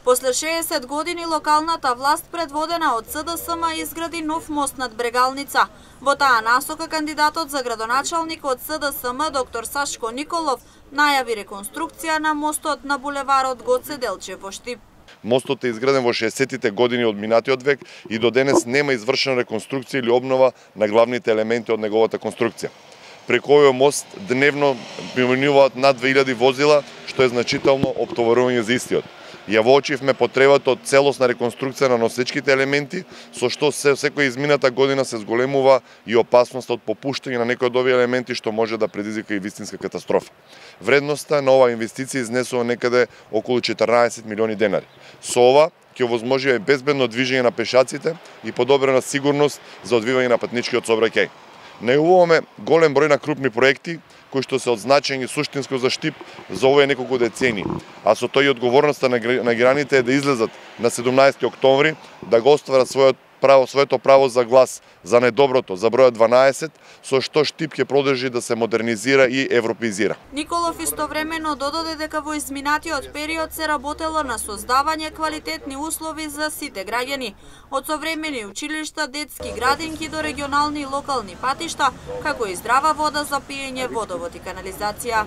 После 60 години локалната власт предводена од СДСМ изгради нов мост над Брегалница. Во таа насока кандидатот за градоначалник од СДСМ доктор Сашко Николов најави реконструкција на мостот на булеварот Гоце Делчев во Штип. Мостот е изграден во 60-тите години од минатиот век и до денес нема извршена реконструкција или обнова на главните елементи од неговата конструкција. Преку овој мост дневно преминуваат над 2000 возила, што е значително оптоварување за истиот. Ја воочивме потребата од целосна реконструкција на носечките елементи, со што секоја измината година се зголемува и опасноста од попуштање на некои од овие елементи, што може да предизвика и вистинска катастрофа. Вредноста на оваа инвестиција изнесува некаде околу 14 милиони денари. Со ова ќе овозможи безбедно движење на пешаците и подобрена сигурност за одвивање на патничкиот сообраќај. Најавуваме голем број на крупни проекти кои што се од значење суштинско за Штип за овие неколку децени, а со тој и одговорноста на граѓаните е да излезат на 17 октомври да го остварат своето право за глас за најдоброто, за бројот 12, со што Штип ќе продолжи да се модернизира и европеизира. Николов истовремено додаде дека во изминатиот период се работело на создавање квалитетни услови за сите граѓани, од современи училишта, детски градинки до регионални и локални патишта, како и здрава вода за пиење, водовод и канализација.